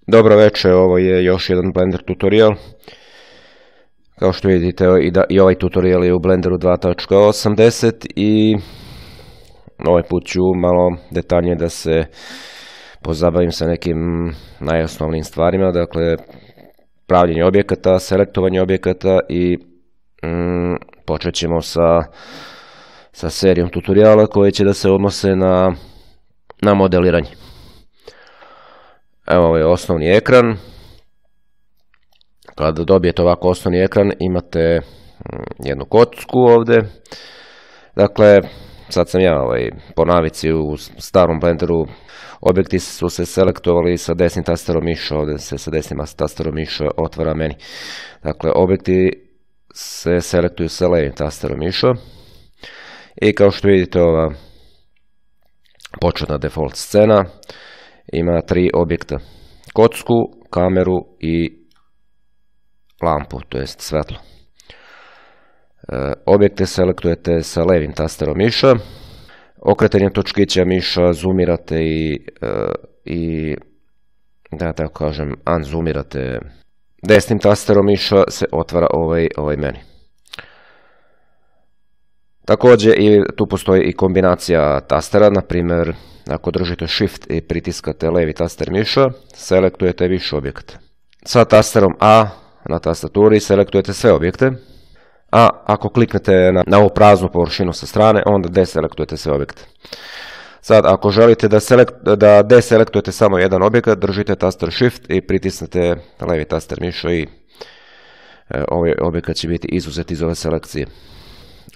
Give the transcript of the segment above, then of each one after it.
Dobro večer, ovo je još jedan Blender tutorial. Kao što vidite i ovaj tutorial je u Blenderu 2.80 i ovaj put ću malo detaljnije da se pozabavim sa nekim najosnovnijim stvarima, dakle pravljenje objekata, selektovanje objekata i počet ćemo sa serijom tutoriala koje će da se odnose na modeliranje. Evo ovaj osnovni ekran. Kada dobijete ovako osnovni ekran imate jednu kocku ovdje. Dakle, sad sam ja po navici u starom Blenderu objekti su se selektovali sa desnim tasterom miša, ovdje se sa desnim tasterom miša otvara meni. Dakle, objekti se selektuju sa levim tasterom miša i kao što vidite ova početna default scena ima tri objekta, kocku, kameru i lampu, to jest svetlo. Objekte selektujete sa levim tasterom miša, okretanjem točkića miša zoomirate i da tako kažem unzoomirate desnim tasterom miša se otvara ovaj meni. Također tu postoji i kombinacija tastera, na primjer ako držite Shift i pritiskate levi taster miša, selektujete više objekata. Sa tasterom A na tastaturi selektujete sve objekte, a ako kliknete na ovu praznu površinu sa strane, onda deselektujete sve objekte. Sad, ako želite da deselektujete samo jedan objekat, držite taster Shift i pritisnete levi taster miša i ovaj objekat će biti izuzet iz ove selekcije.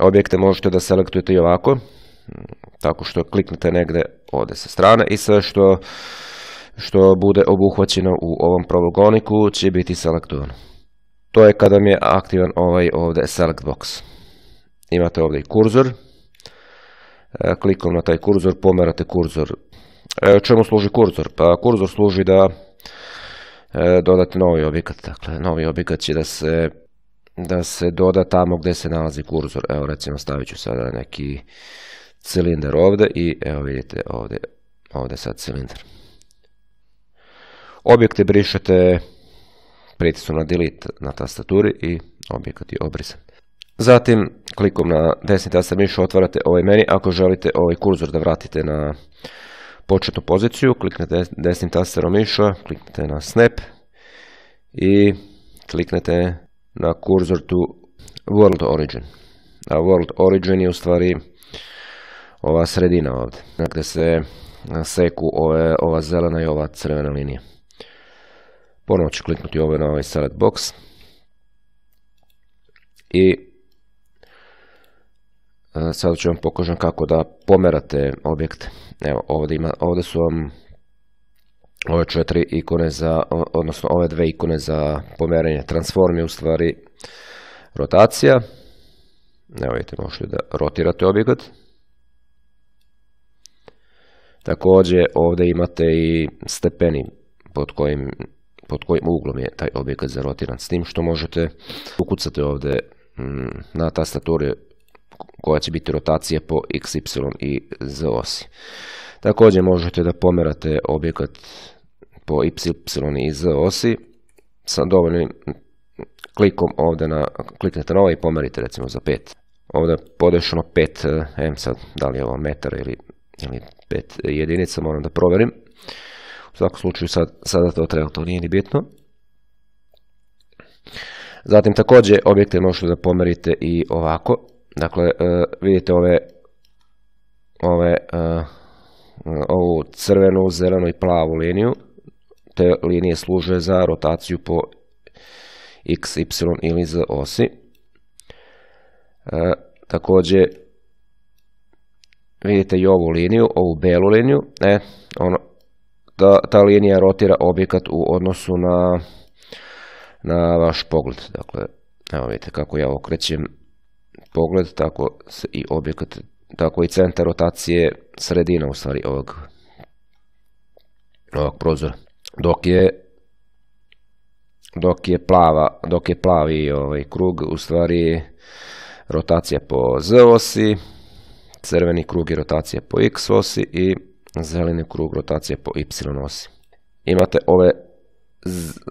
Objekte možete da selektujete i ovako, tako što kliknete negdje ovdje sa strane i sve što bude obuhvaćeno u ovom polygoniku će biti selektovano. To je kada mi je aktivan ovaj ovdje select box. Imate ovdje i kurzor. Klikom na taj kurzor pomerate kurzor. Čemu služi kurzor? Pa kurzor služi da dodate novi objekat. Dakle, novi objekat će da se doda tamo gdje se nalazi kurzor. Evo recimo stavit ću sada neki cilindar ovdje i evo vidite ovdje sad cilindar. Objekte brišete pritiskom na delete na tastaturi i objekat je obrisan. Zatim klikom na desni taster miša otvarate ovaj meni. Ako želite ovaj kurzor da vratite na početnu poziciju, kliknete desnim tasterom miša, kliknete na snap i kliknete na kurzor to world origin. A world origin je u stvari ova sredina ovdje, gdje se seku ova zelena i ova crvena linija. Ponovo ću kliknuti na ovaj select box i sad ću vam pokažem kako da pomerate objekte. Evo ovdje su vam ove četiri ikone odnosno ove dve ikone za pomeranje. Transform je u stvari rotacija. Evo vidite, možete da rotirate objekat. Također ovdje imate i stepeni pod kojim uglom je taj objekat zarotiran, s tim što možete ukucati ovdje na tastaturi koja će biti rotacija po x, y i z osi. Također možete da pomerate objekat po y i z osi sa dovoljnim klikom ovdje kliknete na ovaj i pomerite recimo za 5. Ovdje podešeno 5, sad da li je ovo metar ili 5 jedinica, moram da provjerim. U svakom slučaju sada to treba, to nije ni bitno. Zatim također objekte možete da pomerite i ovako. Dakle, vidite ovu crvenu, zelenu i plavu liniju. Te linije služe za rotaciju po x, y ili z osi. Također vidite i ovu liniju, ovu belu liniju. Ta linija rotira objekat u odnosu na vaš pogled. Dakle, evo vidite kako ja okrećem pogled, tako se i objekat, tako i centar rotacije, sredina u stvari ovog prozora. Dok je plavi krug u stvari rotacija po z osi, crveni krug je rotacija po x osi i zeleni krug rotacija po y osi. Imate ove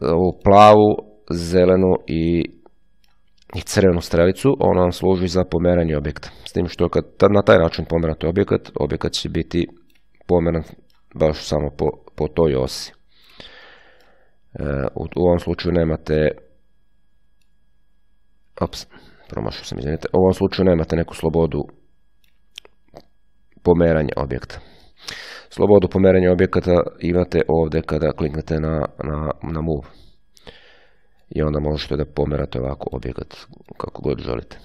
ovu plavu, zelenu i crvenu strelicu, ona vam služi za pomeranje objekta. S tim što kad na taj način pomerate objekat, objekat će biti pomeran baš samo po toj osi. U ovom slučaju nemate, promašao sam, izvinite, u ovom slučaju nemate neku slobodu pomeranja objekta. Slobodu pomeranja objekata imate ovdje kada kliknete na Move. I onda možete da pomerate ovako objekat kako god želite.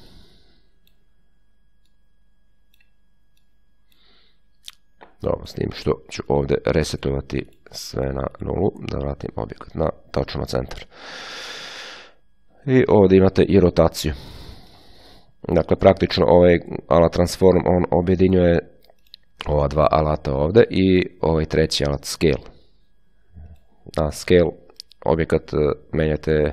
Dobro, s tim što ću ovdje resetovati sve na nulu, da vratim objekat na tačno centar. I ovdje imate i rotaciju. Dakle, praktično ovaj alat Transform, on objedinjuje ova dva alata ovdje i ovaj treći alat Scale. Na Scale objekat menjate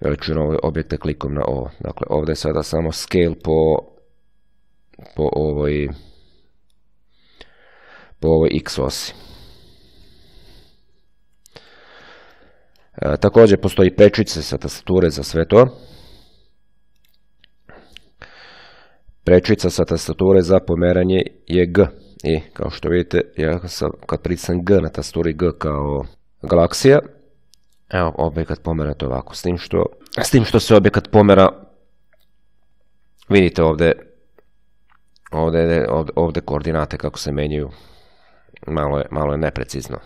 veličinu ove objekte klikom na ovo. Dakle, ovdje je sada samo Scale po ovoj X osi. Također postoji prečice sa tastature za sve to. Prečica sa tastature za pomeranje je G. I kao što vidite, kad pritisnem G na tastaturi, G kao galaksija, evo, objekat pomerate ovako. S tim što se objekat pomera, vidite ovdje koordinate kako se menjaju. Malo je neprecizno.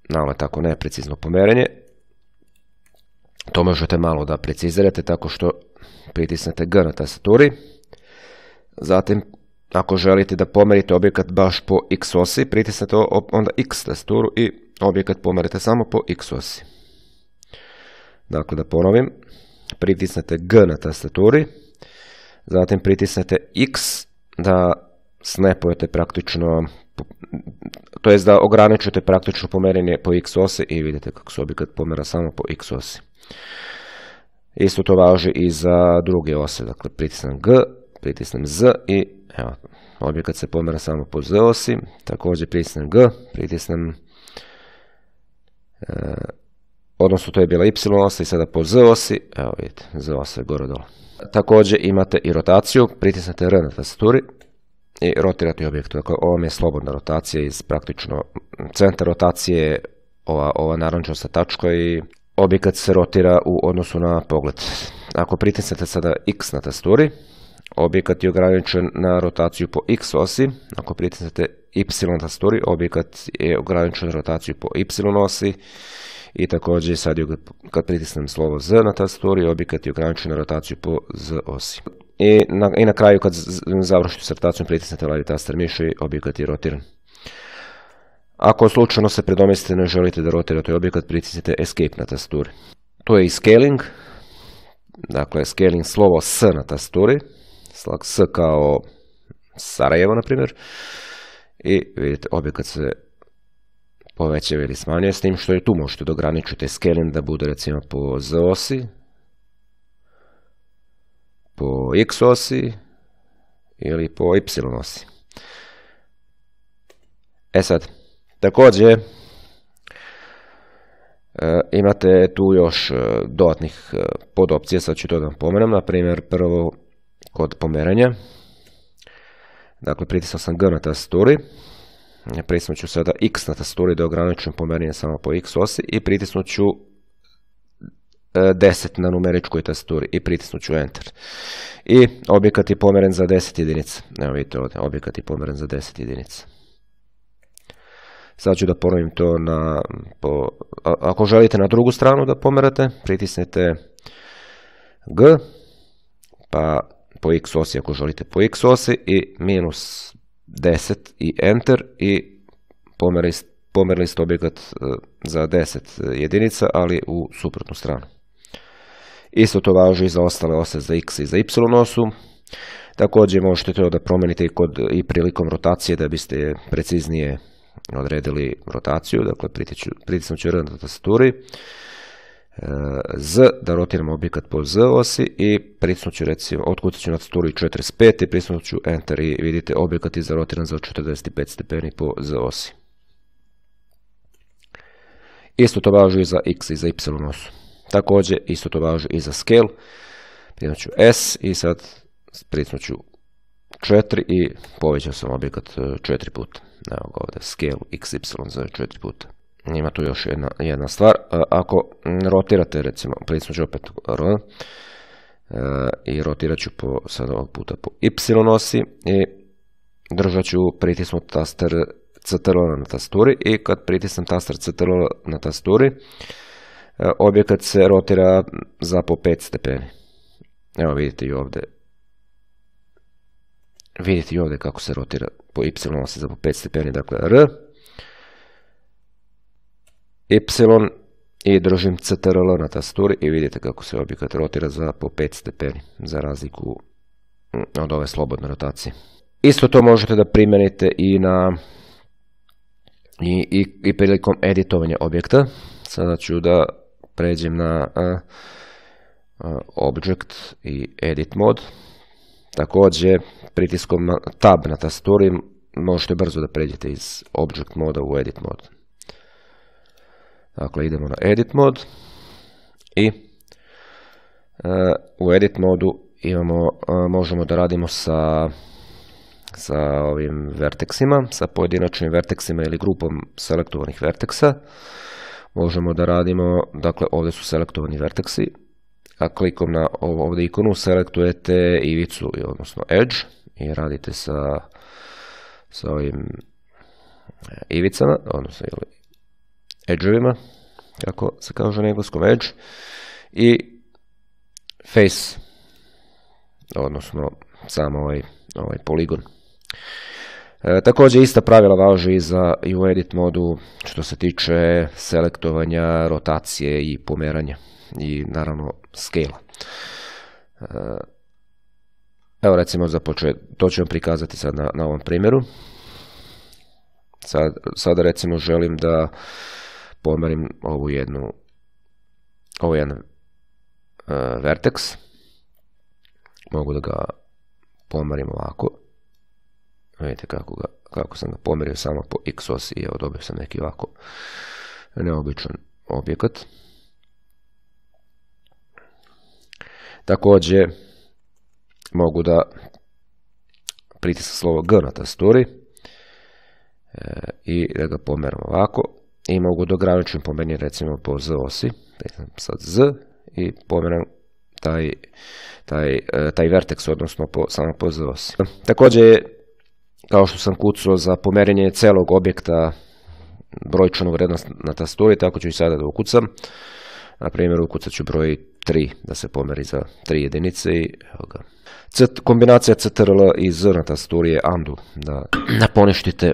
Malo je tako neprecizno pomeranje. To možete malo da precizirate tako što pritisnete G na tastaturi. Zatim, ako želite da pomerite objekat baš po X osi, pritisnete onda X tastaturu i objekat pomerite samo po X osi. Dakle, da ponovim, pritisnete G na tastaturi, zatim pritisnete X da snapujete praktično, to jest da ograničite praktično pomeranje po X osi i vidite kako se objekat pomera samo po X osi. Isto to važi i za druge ose, dakle pritisnem G, pritisnem Z i evo, objekat se pomera samo po Z osi, također pritisnem G, pritisnem, odnosno to je bila Y osa i sada po Z osi, evo vidite, Z osa je gore dole. Također imate i rotaciju, pritisnete R na tastaturi i rotirate objekt. Dakle, ovo je slobodna rotacija iz praktično centar rotacije, ova narančasta tačka i objekat se rotira u odnosu na pogled. Ako pritisnete sada X na tastaturi, objekat je ograničen na rotaciju po X osi. Ako pritisnete Y na tastaturi, objekat je ograničen na rotaciju po Y osi. I također sad kad pritisnem slovo Z na tastaturi, objekat je ograničen na rotaciju po Z osi. I na kraju kad završite s rotacijom, pritisnete levi taster miša i objekat je rotiran. Ako slučajno se predomislite ne želite da rotirate objekat, pritisnite Escape na tastaturi. To je i scaling. Dakle, scaling slovo S na tastaturi. S kao Sarajevo, na primjer. I vidite, objekat se povećava ili smanjuje, s tim što i tu možete da ograničite scaling da bude recimo po Z osi, po X osi ili po Y osi. Sad, također imate tu još dodatnih podopcija, sad ću to da vam pomenem, na primjer prvo kod pomeranja. Dakle, pritisnuo sam G na tastaturi, pritisnut ću sada X na tastaturi da ograničim pomeranje samo po X osi i pritisnut ću 10 na numeričkoj tastaturi i pritisnut ću Enter. I objekat je pomeren za 10 jedinica. Evo vidite ovdje, objekat je pomeren za 10 jedinica. Sad ću da ponovim to ako želite na drugu stranu da pomerate, pritisnete G, pa po X osi ako želite po X osi i minus 10 i Enter i pomerili ste objekat za 10 jedinica, ali u suprotnu stranu. Isto to važi i za ostale ose za X i za Y osu. Također možete to da promijenite i prilikom rotacije da biste preciznije odredili rotaciju. Dakle, pritisnut ću R na tastaturi, Z da rotiram objekat po Z osi i pritisnut ću recimo, otkucat ću na tastaturi 45 i pritisnut ću Enter i vidite objekat je zarotiran za 45 stepeni po Z osi. Isto to važi i za x i za y osu. Također, isto to važi i za scale. Pritisnut ću S i sad pritisnut ću 4 i povećao sam objekat 4 puta. Evo ga ovdje, scale xy za 4 puta. Ima tu još jedna stvar. Ako rotirate, recimo, pritisnut ću opet R i rotirat ću sad ovog puta po y osi i držat ću pritisnut taster CTRL na tasturi i kad pritisnem taster CTRL na tasturi, objekat se rotira za po 5 stepeni. Evo vidite i ovdje. Vidite i ovdje kako se rotira po y osi za po 5 stepeni. Dakle, R, y i držim CTRL na tasturi i vidite kako se objekat rotira za po 5 stepeni, za razliku od ove slobodne rotacije. Isto to možete da primijenite i na i prilikom editovanja objekta. Sada ću da pređem na Object i Edit mod. Također, pritiskom na Tab na tasturi možete brzo da pređete iz Object moda u Edit mod. Dakle, idemo na Edit mod i u Edit modu možemo da radimo sa ovim verteksima, sa pojedinačnim verteksima ili grupom selektovanih verteksa. Možemo da radimo, dakle ovdje su selektovani verteksi, a klikom na ovdje ikonu selektujete ivicu, odnosno edge, i radite sa ovim ivicama, odnosno edge-ovima, kako se kaže na engleskom edge, i face, odnosno samo ovaj poligon. Također ista pravila važi i u edit modu što se tiče selektovanja, rotacije i pomeranja i naravno scale. Evo recimo za početak, to ću vam prikazati sad na ovom primjeru. Sada recimo želim da pomerim ovaj jedan vertex. Mogu da ga pomerim ovako. Vidite kako sam ga pomerio samo po x osi i evo dobio sam neki ovako neobičan objekat. Također mogu da pritisnem slovo G na tasturi i da ga pomeram ovako i mogu da ograničim pomerenje recimo po Z osi. Sad Z i pomeram taj vertex, odnosno samo po Z osi. Također, kao što sam kucao za pomerenje celog objekta brojčanu vrednost na tasturi, tako ću i sada da ukucam. Na primjer, ukucat ću broj 3 da se pomeri za 3 jedinice i evo ga. Kombinacija CTRL i Z na tasturi je undo, da poništite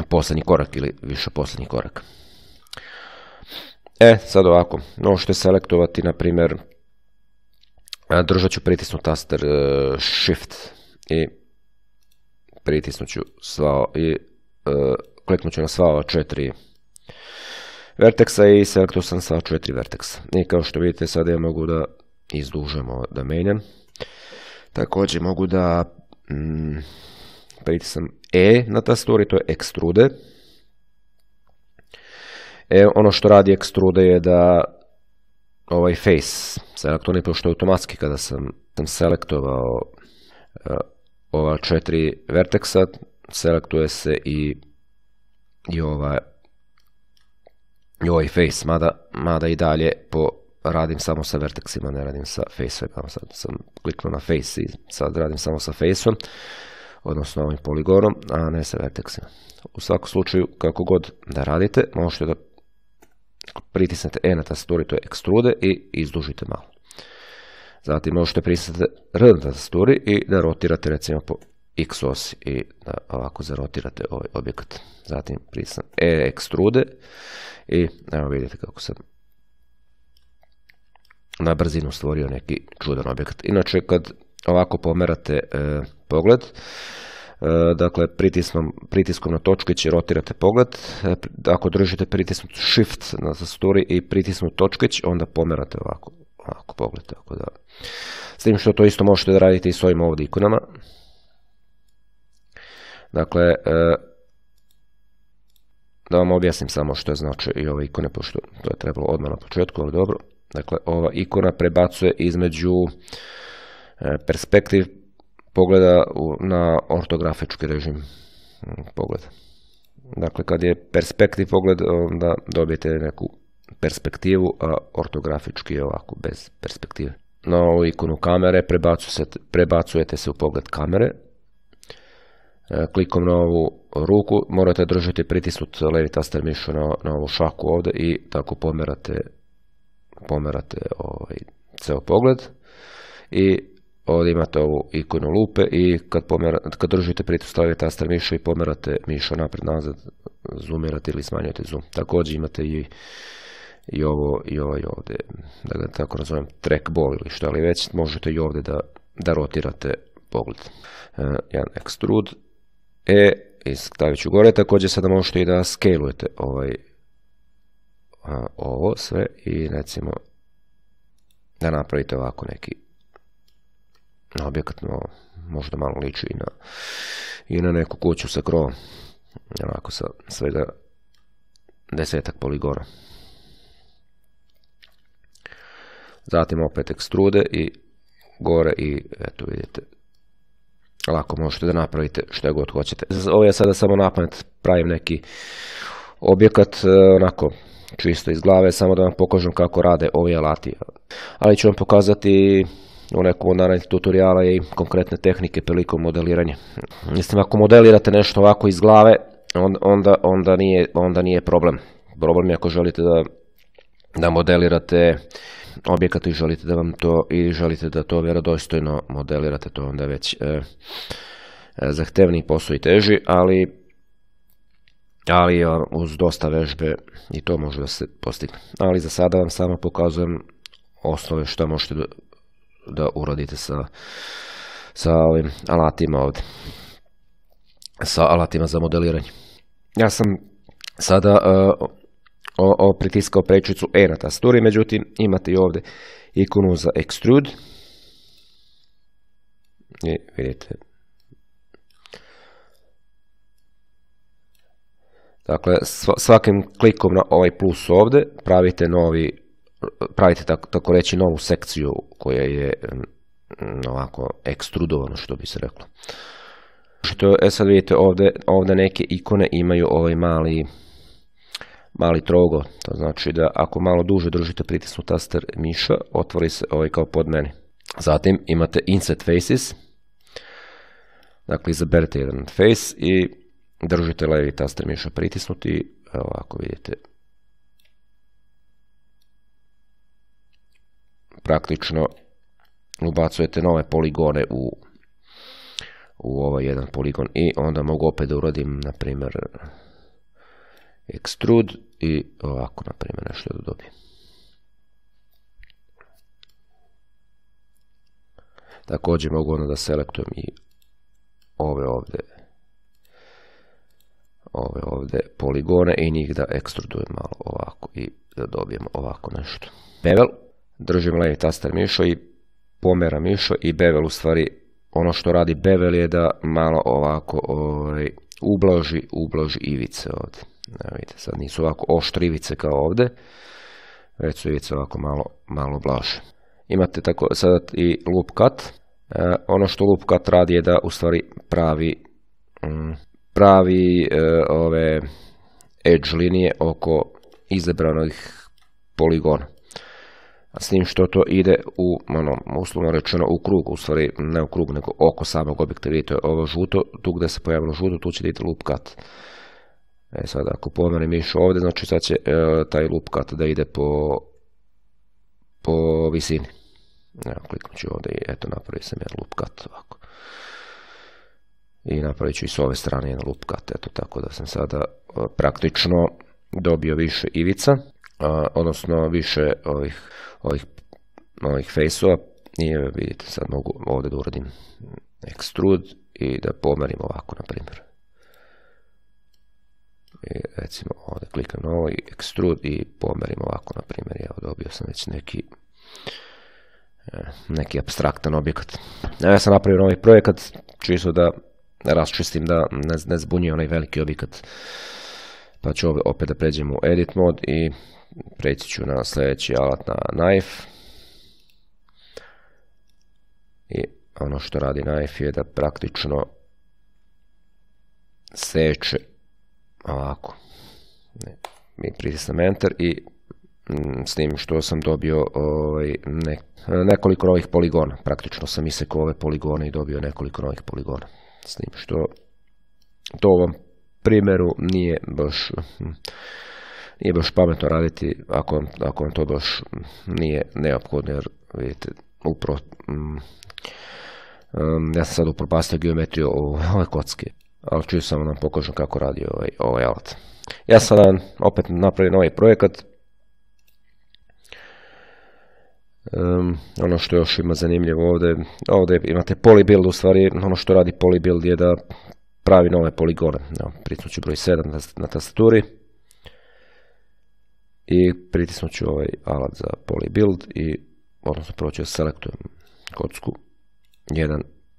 posljednji korak ili više posljednji korak. Sad ovako, možete selektovati, na primjer, držat ću pritisnut taster Shift i pritisnut ću kliknut ću na sva ova 4 verteksa i selektuo sam sva 4 verteksa. I kao što vidite, sada ja mogu da izdužemo, da menjam. Također mogu da pritisnem E na tasturi, to je extrude. Ono što radi extrude je da ovaj face selektuje, pošto automatski kada sam selektovao ova 4 verteksa, selektuje se i ovaj face, mada i dalje radim samo sa verteksima, ne radim sa face-om. Sad sam kliknuo na face i sad radim samo sa face-om, odnosno ovim poligonom, a ne sa verteksima. U svakom slučaju, kako god da radite, možete da pritisnete E na tasturi, to je extrude, i izdužite malo. Zatim možete pritisnete R na tasturi i da rotirate recimo po X osi i da ovako zarotirate ovaj objekat. Zatim pritisnem E extrude i evo vidite kako sam na brzinu stvorio neki čudan objekat. Inače, kad ovako pomerate pogled, dakle pritiskom na točkić rotirate pogled. Ako držite pritisnut Shift na tasturi i pritisnut točkić, onda pomerate ovako pogled. Tako da, s tim što to isto možete da radite i s ovim ovdje ikonama. Dakle, Da vam objasnim samo što znači i ove ikone, pošto to je trebalo odmah na početku, ali dobro. Dakle, ova ikona prebacuje između perspektiv pogleda na ortografički režim pogleda. Dakle, kad je perspektiv pogled, onda dobijete neku perspektivu, a ortografički je ovako, bez perspektive. Na ovu ikonu kamere prebacujete se u pogled kamere. Klikom na ovu ruku morate držati pritisnuti levi taster miša na ovu šaku ovdje i tako pomerate ceo pogled. I ovdje imate ovu ikonu lupe i kad držite pritisnuti levi taster miša i pomerate miša napred nazad, zoomirate ili smanjujete zoom. Također imate i ovaj ovdje, da ga tako nazovem, trackball ili što, ali već možete i ovdje da rotirate pogled. Jedan extrude. I stavit ću gore, također sada možete i da scalujete ovo sve i recimo da napravite ovako neki objekat, možda malo liči i na neku kuću sa krovom, onako sa svega 10 poligona. Zatim opet ekstrude i gore i eto vidite, lako možete da napravite što god hoćete. Ovo je sada samo napamet, pravim neki objekat, onako čisto iz glave, samo da vam pokažem kako rade ovi alati. Ali ću vam pokazati u nekom od narednih tutoriala i konkretne tehnike prilikom modeliranja. Mislim, ako modelirate nešto ovako iz glave, onda nije problem. Problem je ako želite da modelirate objekat i želite da to vjerodostojno modelirate, to onda već zahtevniji posao i teži, ali uz dosta vežbe i to može da se postigne. Ali za sada vam samo pokazujem osnove što možete da uradite sa ovim alatima ovdje, sa alatima za modeliranje. Ja sam sada pritiskao prečicu E na tasturi, međutim imate i ovdje ikonu za extrude i vidite. Dakle, svakim klikom na ovaj plus ovdje pravite tako reći novu sekciju koja je ovako ekstrudovano, što bi se reklo. Sad vidite ovdje neke ikone imaju ovaj mali trougao, to znači da ako malo duže držite pritisnu taster miša, otvori se ovaj kao pod meni. Zatim imate Inset Faces, dakle izaberete jedan face i držite levi taster miša pritisnuti i ovako vidite. Praktično ubacujete nove poligone u ovaj jedan poligon i onda mogu opet da uradim, na primjer, extrude i ovako, na primjer, nešto da dobijem. Također mogu onda da selektujem i ove ovdje poligone i njih da ekstrudujem malo ovako i da dobijem ovako nešto. Bevel, držim levi taster mišo i pomeram mišo i bevel, u stvari ono što radi bevel je da malo ovako ublaži ivice ovdje. Vidite, sad nisu ovako oštre ivice kao ovdje, već su ivice ovako malo blaže. Imate tako sad i loop cut. Ono što loop cut radi je da u stvari pravi ove edge linije oko izabranih poligona. A s tim što to ide uslovno rečeno u krug, u stvari ne u krug nego oko samog objekta. Vidite ovo žuto, tu gdje se pojavilo žuto, tu će vidjeti loop cut. Sad ako pomerim mišu ovdje, znači sad će taj loop cut da ide po visini. Evo, kliknut ću ovdje i eto, napravio sam jedan loop cut ovako. I napravit ću i s ove strane jedan loop cut, eto, tako da sam sada praktično dobio više ivica, odnosno više ovih face-ova. I vidite, sad mogu ovdje da uradim extrude i da pomerim ovako, na primjer. I recimo ovdje klikam na ovo i extrude i pomerim ovako, na primjer. Evo, dobio sam već neki apstraktan objekat. Ja sam napravio novi projekat, čisto da raščistim, da ne zbunjuje onaj veliki objekat Pa ću opet da pređem u edit mod i preći ću na sljedeći alat, na knife. I ono što radi knife je da praktično seče ovako. Mi pritisnem enter i s tim što sam dobio nekoliko novih poligona. Praktično sam isekao ove poligone i dobio nekoliko novih poligona. S tim što to u ovom primjeru nije baš pametno raditi ako vam to baš nije neophodno, jer vidite, upravo ja sam sad upropastio geometriju ove kocke, ali ću samo nam pokažem kako radi ovaj alat. Ja sam opet napravio novi projekat. Ono što još ima zanimljivo ovdje imate polybuild, u stvari ono što radi polybuild je da pravi nove poligone. Pritisnut ću broj 7 na tastaturi i pritisnut ću ovaj alat za polybuild i odnosno prvo ću selektujem kocku,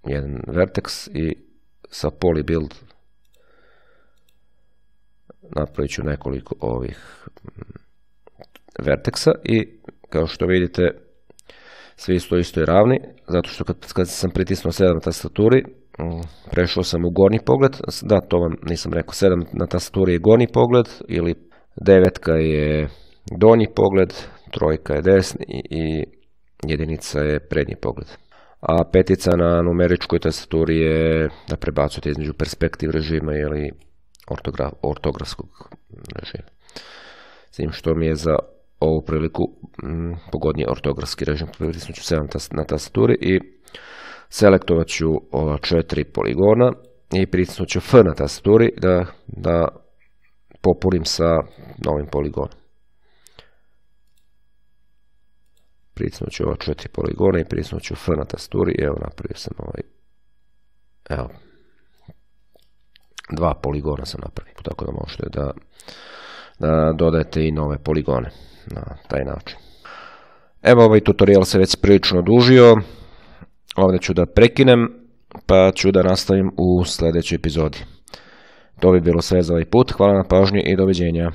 jedan vertex i sa polybuild napravit ću nekoliko ovih verteksa i kao što vidite svi isto i ravni, zato što kad sam pritisnuo 7 na tastaturi prešao sam u gornji pogled. Da, to vam nisam rekao, 7 na tastaturi je gornji pogled ili 9 je donji pogled, 3 je desni i 1 je prednji pogled. A 5 na numeričkoj tastaturi je da prebacujete između perspektiv režima ili ortografskog režima. S tim što mi je za ovu priliku pogodnije ortografski režim. Pritisnut ću 7 na tastaturi i selektovat ću ova 4 poligona i pritisnut ću F na tastaturi da popunim sa novim poligonom. Pritisnut ću ova 4 poligona i pritisnut ću F na tastaturi i evo napravio sam evo 2 poligona sam napravio, tako da možete da dodajete i nove poligone na taj način. Evo, ovaj tutorial se već prilično odužio, ovdje ću da prekinem pa ću da nastavim u sljedećoj epizodi. To bi bilo sve za ovaj put, hvala na pažnji i doviđenja.